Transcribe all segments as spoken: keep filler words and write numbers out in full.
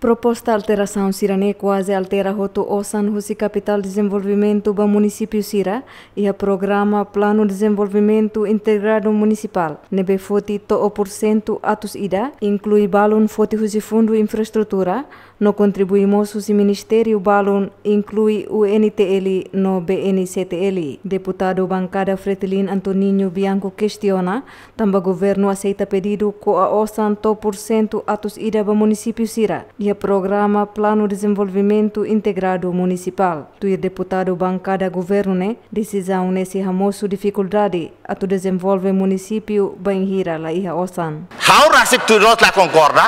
Proposta alterasaun sira-ne'e kuaze altera hotu osan husi kapitál dezenvolvimentu ba munisípiu sira iha programa Planu Dezenvolvimentu Integradu Munisipál, ne'ebé foti to'o pursentu atus ida, inklui balun foti husi Fundu Infraestrutura, no kontribui mós husi ministériu balun, inklui U N T L no B N C T L. Deputadu bankada Fretilin Antoninho Bianco kestiona, tanba governu aseita pedidu ko'a osan to'o pursentu atus ida ba munisípiu sira iha programa Planu Dezenvolvimentu Integradu Munisipál. Tuir deputadu bankada governu ne'e, desizaun ne'e sei hamosu difikuldade atu dezenvolve munisípiu bainhira la iha osan. Ha'u rasik tuir loloos la konkorda,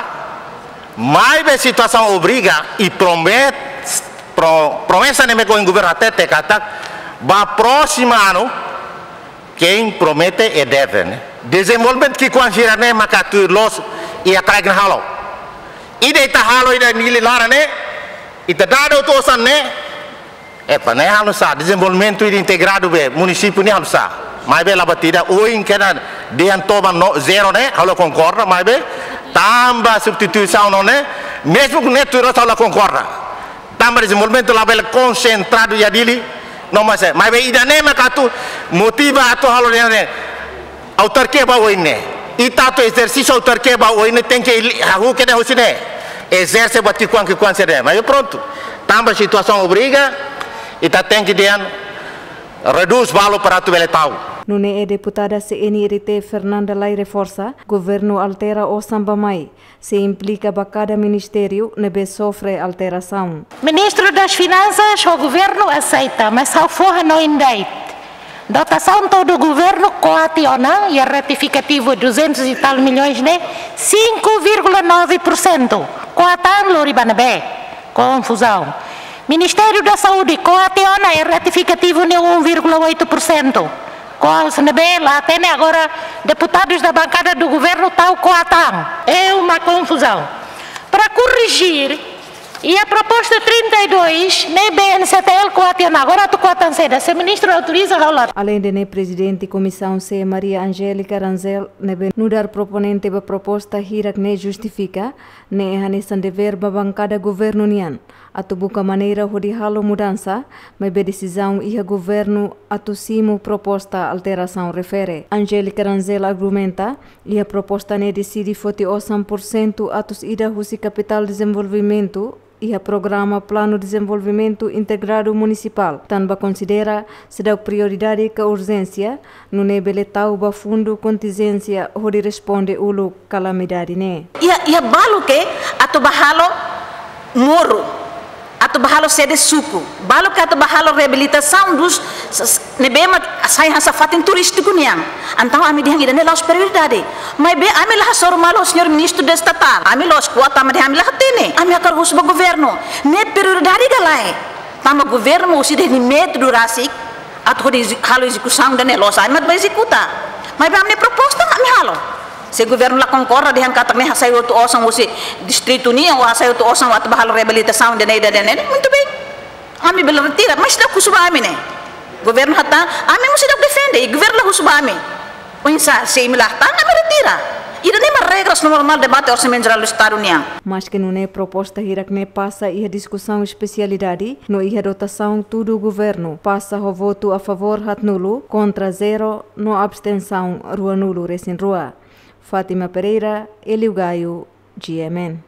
maibé situasaun obriga i promet-, pro-, promesa ne'ebé ohin governu hatete katak ba prósimu anu, quem promete é deve, ne'e. Dezenvolvimentu ki'ikoan sira-ne'e maka tuir loloos iha kraik ne'e halo. Ida ita halo ida Nili laran ne'e, ita dada hotu osan ne'e, epá, ne'e halo sá, dezenvolvimentu ida integradu ba munisípiu ne'e halo sá. Maibé la buat ida, ohin kedan dehan toba no zero ne'e, ha'u la konkorda, maibé tanba substituisaun no ne'e, mezmu ne'e tuir loloos ha'u la konkorda. Tanba dezenvolvimentu labele konsentradu iha Dili, no mas, maibé ida-ne'e maka atu motiva atu halo ne'e, ne'e. Autarkia ba oin ne'e. Ita atu ezersísiu autarkia ba oin ne'e tenke li-, hahú kedas husi ne'e. Ezerse buat ki'ikoan, ki'ikoan sira-ne'e. Maibé prontu. Tanba situasaun obriga, ita tenke dehan redús valór para atu bele tau. Nune'e deputada C N R T Fernanda Lay reforsa, governu altera osan ba mai, sei implika ba kada ministériu ne'ebé sofre alterasaun. Ministru das Finansas ho governu aseita, mas ha'u fó hanoin de'it. Dotasaun todu governu ko'a tiha ona, iha retifikativu duzentos e tal milhões ne'e, cinco vírgula nove por cento. Ko'a tan lori ba ne'ebé? Konfuzaun. Ministériu da Saúde, ko'a tiha ona, iha retifikativu ne'e um vírgula oito por cento. Ko'a husi ne'ebé, la hatene, agora deputadus da bankada do governu tau ko'a tan. É uma confusão. Para korrigir, iha proposta trinta e dois, ne'e B N C T L ko'a tiha ona, agora atu ko'a tan saida, se ministru autoriza ha'u la. Aleinde ne'e, prezidente Komisaun C, Maria Angélica Rangel, ne'ebé nu'udar proponente ba proposta hirak ne'e justifika, ne'e hanesan devér ba bankada governu nian atu buka maneira hodi halo mudansa, maibé desizaun iha governu atu simu proposta alterasaun refere. Angélica Rangel argumenta, iha proposta ne'e deside foti osan pursentu atus ida husi kapitál dezenvolvimentu iha programa Planu Dezenvolvimentu Integradu Munisipál, tanba konsidera seidauk prioridade ka urjénsia, nune'e bele tau ba fundu kontinjénsia hodi responde uluk kalamidade ne'e. Iha, iha balu ke atu ba halo moru, atu ba halo sede suku, balu ke atu ba halo reabilitasaun dos s-, s-, ne'ebé mak sai hanesan fatin turístiku nian. Entaun ami dehan ida-ne'e la'ós prioridade. Maibé ami la hasoru malu señór ministru de estatál. Ami la'ós kuat tanba dehan ami la hatene. Ami hakarak husu ba governu. Ne'e prioridade ka lae? Tanba governu husi dehan nia métodu rasik atu hodi ezi-, halo ezekusaun ida-ne'e, la'ós ami mak ba ezekuta. Maibé ami-nia proposta ami halo. Se governu la konkorda dehan katak ne'e hasai hotu osan husi distritu nian, ou hasai hotu osan atu ba halo reabilitasaun ida-ne'e, ida-ne'e, ida-ne'e, muito bem. Ami bele retira, mas seidauk husu ba ami ne'e. Governu hatán, ami mós seidauk defende, i governu la husu ba ami. Oinsá, se imi la hatán, ami retira. Ida-ne'e mak regras normál debate Orsamentu Jerál do Estadu nian. Maske nune'e, proposta hirak ne'e pasa iha diskusaun espesialidade, no iha dotasaun tudu governu pasa ho votu a favór haatnulu, kontra zero, no abstensaun ruanulu resin rua. Fátima Pereira, Hélio Gaio, G M N.